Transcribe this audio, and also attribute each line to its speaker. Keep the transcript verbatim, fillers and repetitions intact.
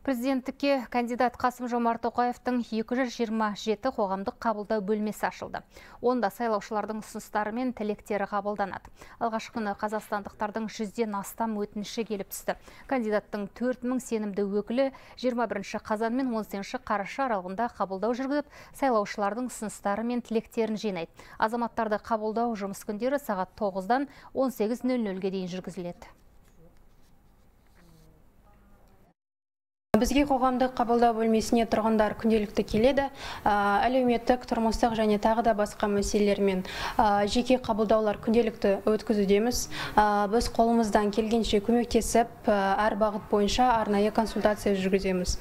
Speaker 1: Президенттікке кандидат Қасым-Жомарт Тоқаевтың екі жүз жиырма жеті қоғамдық қабылдау бөлмесі ашылды. Онда сайлаушылардың ұсыныстары мен тілектері қабылданады. Алғашқы күні қазақстандықтардың жүзден астам өтініші келіп түсті. Кандидаттың төрт мың сенімді өкілі жиырма бірінші қазан мен он сегізінші қараша аралығында қабылдау жүргізіп, сайлаушылардың ұсыныстары мен тілектерін жинайды. Азаматтарды қабылдау жұмыс күндері сағат тоғыздан он сегіз нөл нөлге дейін жүргізіледі.
Speaker 2: Бізге қоғамдық қабылдау бөлмесіне тұрғындар күнделікті келеді. Әлеуметтік, тұрмыстық және тағы да басқа мәселелермен жеке қабылдаулар күнделікті өткізудеміз. Біз қолымыздан келгенше көмектесіп, әр бағыт бойынша арнайы консультация жүргіземіз.